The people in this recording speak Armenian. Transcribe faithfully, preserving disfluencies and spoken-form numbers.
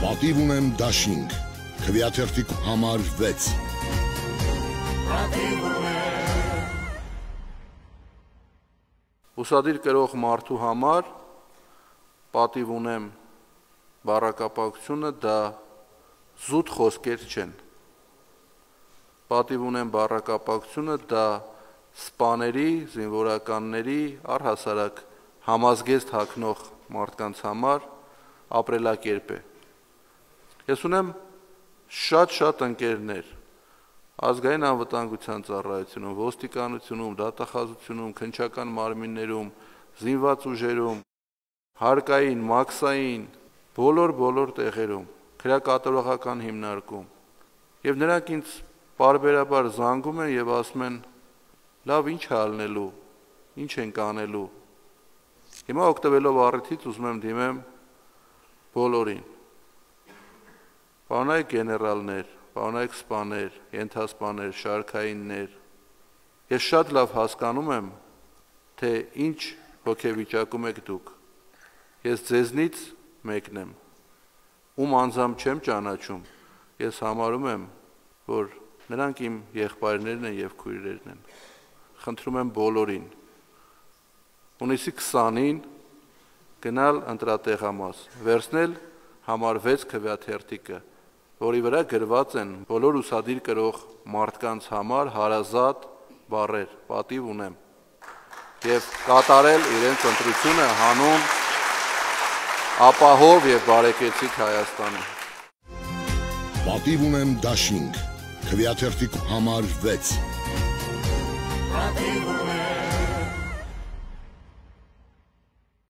Պատիվ ունեմ դաշինք, քվեաթերթիկ համար վեց։ Ուսադիր կրող մարդու համար պատիվ ունեմ բառակապակցությունը դա զուտ խոսքեր չեն։ Պատիվ ունեմ բառակապակցությունը դա սպաների, զինվորականների, առհասարակ համազգեստ հագնող մարդկանց համար ապրելակերպ է։ Ես ունեմ շատ-շատ ընկերներ ազգային անվտանգության ծառայությունում, ոստիկանությունում, դատախազությունում, քննչական մարմիններում, զինված ուժերում, հարկային, մաքսային, բոլոր-բոլոր տեղերում, քրեակատարողական հիմնարկում։ Եվ նրանք ինձ պարբերաբար զանգում են եւ ասում են. լավ, ինչ է ալնելու, ինչ ենք անելու։ Հիմա օգտվելով առիթից ուզում եմ դիմեմ բոլորին։ Պարոնայք գեներալներ, պարոնայք սպաներ, ենթասպաներ, շարքայիններ, ես շատ լավ հասկանում եմ, թե ինչ հոգեվիճակում եք դուք։ Ես ձեզնից մեկն եմ, ում անձամբ չեմ ճանաչում, ես համարում եմ, որ նրանք իմ եղբայրներն են եւ քույրերն են։ Խնդրում եմ բոլորին հունիսի քսանին գնալ ընտրատեղամաս, վերցնել համար վեց քվեաթերթիկը, որի վրա գրված են բոլոր ուսադիր կրող մարդկանց համար հարազատ բառեր, պատիվ ունեմ, եւ կատարել իրենց ընտրությունը հանուն ապահով եւ բարեկեցիկ Հայաստանի։ Պատիվ ունեմ դաշինք, քվեաթերթիկ համար վեց։ Պատիվ ունեմ